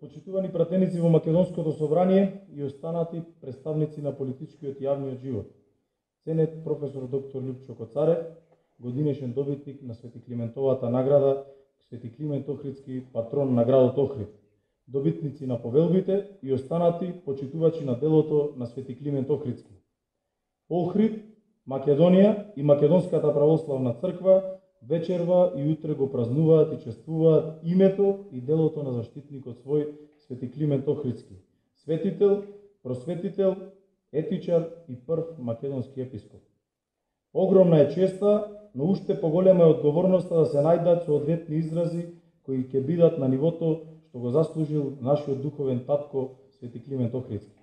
почитувани пратеници во Македонското собрание и останати представници на политичкиот и јавниот живот, ценет професор доктор Лјупчо Коцарев, годинешен добитник на Свети Климентовата награда, Свети Климент Охридски, патрон на градот Охрид, добитници на повелбите и останати почитувачи на делото на Свети Климент Охридски. Охрид, Македонија и Македонската православна црква вечерва и утре го празнуваат и чествуваат името и делото на заштитникот свој Свети Климент Охридски, светител, просветител, етичар и прв македонски епископ. Огромна е честа, но уште поголема е одговорноста да се најдат соодветни изрази кои ќе бидат на нивото што го заслужил нашиот духовен татко Свети Климент Охридски.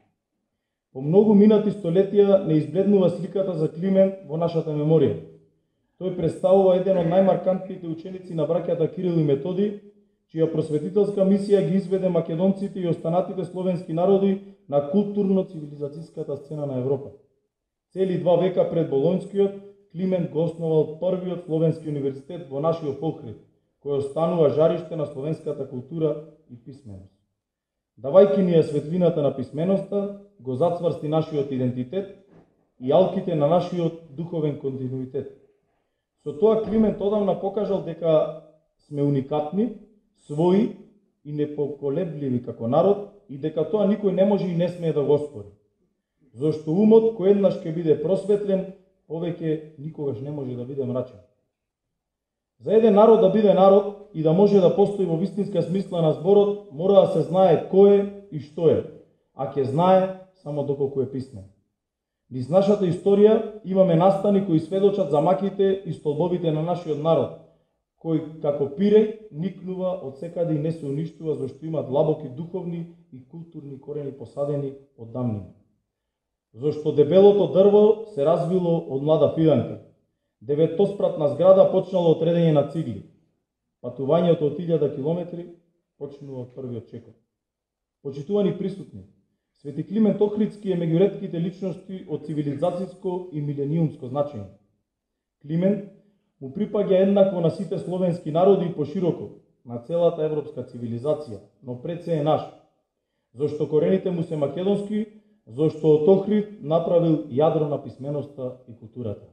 По многу минати столетија не избледнува сликата за Климент во нашата меморија. Тој представува еден од најмаркантните ученици на браќата Кирил и Методи, чија просветителска мисија ги изведе македонците и останатите словенски народи на културно-цивилизацијската сцена на Европа. Цели 2 века пред Болонскиот, Климент го основал првиот словенски универзитет во нашиот Охрид, кој останува жариште на словенската култура и писменост. Давајќи ни ја светлината на писменоста, го зацврсти нашиот идентитет и алките на нашиот духовен континуитет. Со тоа Климент одамна покажал дека сме уникатни, своји и непоколебливи како народ и дека тоа никој не може и не смее да го оспори. Зошто умот кој еднаш ќе биде просветлен, повеќе никогаш не може да биде мрачен. За еден народ да биде народ и да може да постои во вистинска смисла на зборот, мора да се знае кој е и што е, а ќе знае само доколку е писмен. Низ нашата историја имаме настани кои сведочат за маките и столбовите на нашиот народ, кој како пиреј никнува од секаде и не се уништува зашто има длабоки духовни и културни корени посадени од давнина. Зашто дебелото дрво се развило од млада фиданка. Деветоспратна зграда почнало од редење на цигли. Патувањето од 1000 километри почнува од првиот чекор. Почитувани присутни, Свети Климент Охридски е меѓу ретките личности од цивилизацијско и милениумско значење. Климент му припаѓа еднакво на сите словенски народи и пошироко, на целата европска цивилизација, но пред се е наш, зашто корените му се македонски, зашто од Охрид направил јадро на писменоста и културата.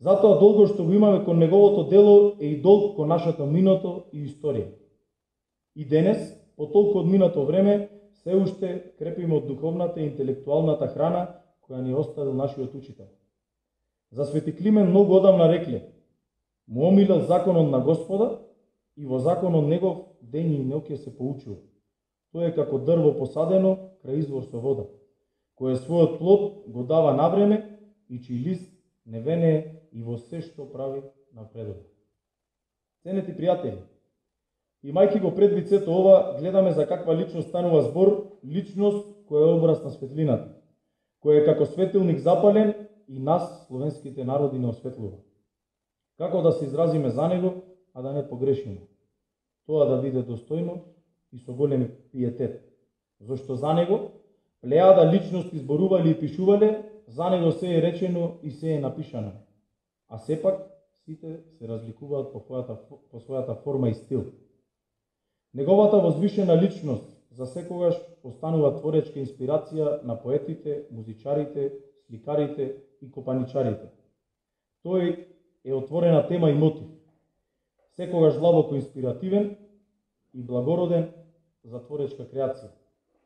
Затоа долго што го имаме кон неговото дело е и долг кон нашето минато и историја. И денес, по толку одминато време, се уште крепиме од духовната и интелектуалната храна која ни оставил нашиот учител. За Свети Климент многу одамна рекле: му омилел законот на Господа и во законот негов дење и ноќе се поучува. Тоа е како дрво посадено крај извор со вода, кое својот плод го дава на време и чиј лист не венее и во се што прави напредува. Ценети пријатели, имајќи го предвид сето ова, гледаме за каква личност станува збор, личност која е образ на светлината, која е како светилник запален и нас, словенските народи, не осветлува. Како да се изразиме за него, а да не погрешиме? Тоа да биде достојно и со голем пиетет, зашто за него плејада личности зборувале и пишувале, за него се е речено и се е напишано, а сепак сите се разликуваат по својата форма и стил. Неговата возвишена личност за секогаш останува творечка инспирација на поетите, музичарите, сликарите и копаничарите. Тој е отворена тема и мотив, секогаш длабоко инспиративен и благороден за творечка креација,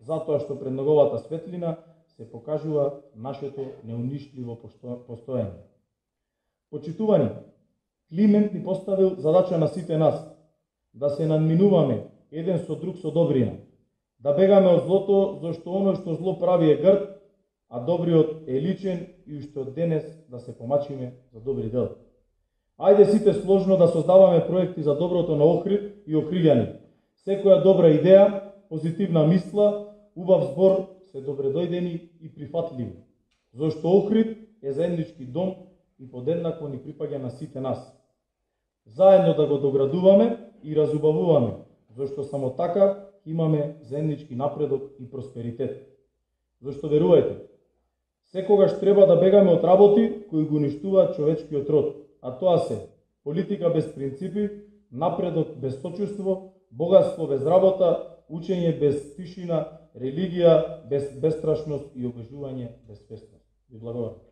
затоа што пред неговата светлина се покажува нашето неуништливо постоење. Почитувани, Климент ни поставил задача на сите нас, да се надминуваме еден со друг со добрина, да бегаме од злото, зашто оно што зло прави е грд, а добриот е личен и уште од денес да се помачиме за добри дела. Ајде сите сложно да создаваме проекти за доброто на Охрид и охриѓани. Секоја добра идеја, позитивна мисла, убав збор се добредојдени и прифатливи, зашто Охрид е заеднички дом и подеднакво ни припаѓа на сите нас. Заедно да го доградуваме и разубавуваме, зашто само така имаме заеднички напредок и просперитет. Зашто верувајте, секогаш треба да бегаме од работи кои го уништуваат човечкиот род, а тоа се политика без принципи, напредок без сочувство, богатство без работа, учење без тишина, религија без бестрашност и обожување без свесност. Ви благодарам.